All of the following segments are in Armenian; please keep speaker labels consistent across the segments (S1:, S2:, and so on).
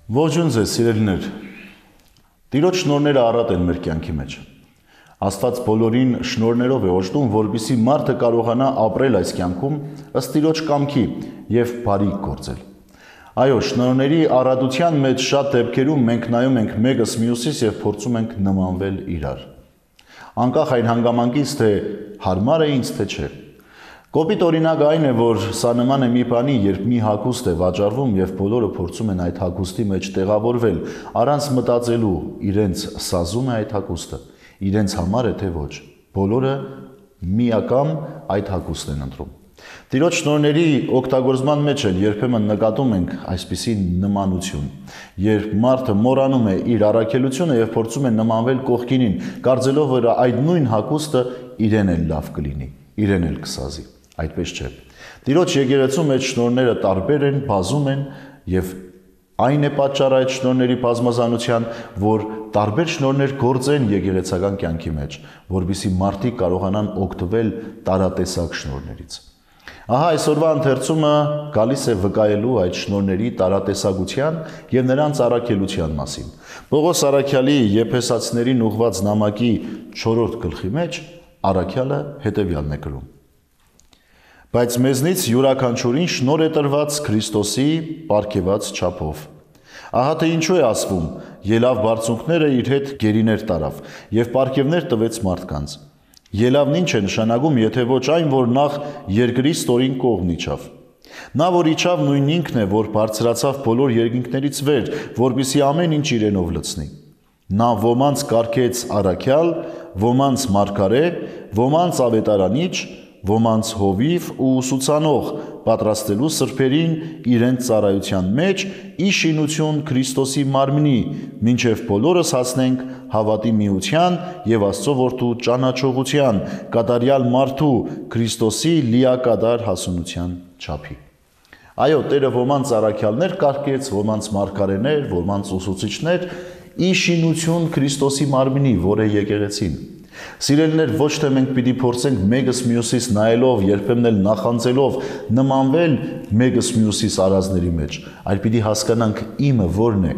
S1: Ողջույն ձեզ, սիրելիներ։ Տիրոջ շնորհները առատ են մեր կյանքի մեջ։ Աստված բոլորին շնորհներով է օժտում, որպեսզի մարդը կարողանա ապրել այս կյանքում ըստ Տիրոջ կամքի եւ բարիք գործել։ Այո, շնորհների առատության մեջ շատ դեպքերում մենք նայում ենք մեկս մյուսից եւ փորձում ենք նմանվել իրար։ Անկախ այն հանգամանքից, թե հարմար է ինձ, թե չէ։ Կոպիտ օրինակ այն է, որ սա նման է մի բանի, երբ մի հագուստ է վաճառվում եւ բոլորը փորձում են այդ հագուստի մեջ տեղավորվել, առանց մտածելու իրենց սազում է այդ հագուստը, իրենց համար է թե ոչ։ Բոլորը միակամ այդ հագուստն են ընտրում։ Տիրոջ շնորհների օգտագործման մեջ էլ երբեմն նկատում ենք այսպիսի նմանություն, երբ մարդը մոռանում է իր առաքելությունը եւ փորձում է նմանվել կողքինին, կարծելով, որ այդ նույն հագուստը իրեն էլ լավ կլինի, իրեն էլ կսազի։ Այդպես չէ։ Տիրոջ եկեղեցու մեջ շնորհները տարբեր են, բազում են եւ այն է պատճառը այդ շնորհների բազմազանության, որ տարբեր շնորհներ գործեն եկեղեցական կյանքի մեջ, որովհետեւ մարդիկ կարողանան օգտվել տարատեսակ շնորհներից։ Ահա այսօրվա ընթերցումը գալիս է վկայելու այդ շնորհների տարատեսակության եւ նրանց առաքելության մասին։ Պողոս առաքյալի Եփեսացիներին ուղված նամակի 4-րդ գլխի մեջ առաքյալը հետեւյալն է գրում. Բայց մեզնից յուրաքանչյուրին շնորհ է տրված Քրիստոսի պարգևած չափով։ Ահա թե ինչու է ասվում. ելավ բարձունքները իր հետ գերիներ տարավ եւ պարգևներ տվեց մարդկանց։ Ելավն ինչ է նշանակում, եթե ոչ այն, որ նախ երկրի ստորին կողմն իջավ։ Նա, որ իջավ, նույն ինքն է, որ բարձրացավ բոլոր երկինքներից վեր, որպեսզի ամեն ինչ իրենով լցնի։ Նա ոմանց կարգեց առաքյալ, ոմանց մարգարե, ոմանց ավետարանիչ, ոմանց հովիվ ու ուսուցանող, պատրաստելու սրբերին իրենց ծառայության մեջ ի շինություն Քրիստոսի մարմնի, մինչև բոլորս հասնենք հավատի միության եւ Աստծո որդու ճանաչողության, կատարյալ մարդու Քրիստոսի լիակատար հասունության չափի։ Այո, Տերը ոմանց առաքյալներ կարգեց, ոմանց մարգարեներ, ոմանց ուսուցիչներ ի շինություն Քրիստոսի մարմնի, որ է եկեղեցին։ Սիրելիներ, ոչ թե մենք պիտի փորձենք մեկս մյուսից նայելով, երբեմն էլ նախանձելով նմանվել մեկս մյուսից արածների մեջ, այլ պիտի հասկանանք իմը որն է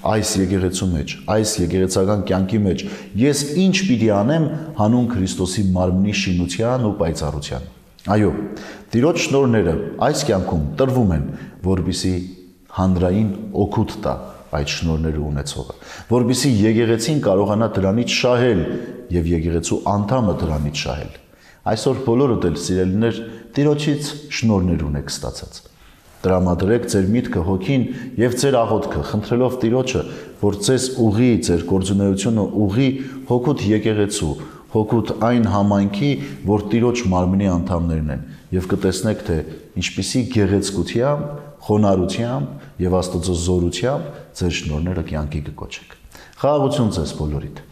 S1: այս եկեղեցու մեջ, այս եկեղեցական կյանքի մեջ, ես ինչ պիտի անեմ հանուն Քրիստոսի մարմնի շինության ու պայծառության։ Այո, Տիրոջ շնորհները այս կյանքում տրվում են, որպեսզի հանրային օգուտ տա այդ շնորհները ունեցողը, որպեսզի եկեղեցին կարողանա դրանից շահել եւ եկեղեցու անդամը դրանից շահել։ Այսօր բոլորդ էլ սիրելիներ Տիրոջից շնորհներ ունեք ստացած։ Տրամադրեք ձեր միտքը հոգին եւ ձեր աղոթքը, խնդրելով Տիրոջը, որ ձեզ ուղի, ձեր գործունեությունը ուղի հոգուտ եկեղեցու, հոգուտ այն համայնքի, որ Տիրոջ մարմնի անդամներն են, եւ կտեսնեք, թե ինչպիսի գեղեցկությամբ, խոնարհությամբ եւ Աստծո զորությամբ ձեր շնորհները կյանքի կկոչեք։ Խաղաղություն ձեզ բոլորիդ։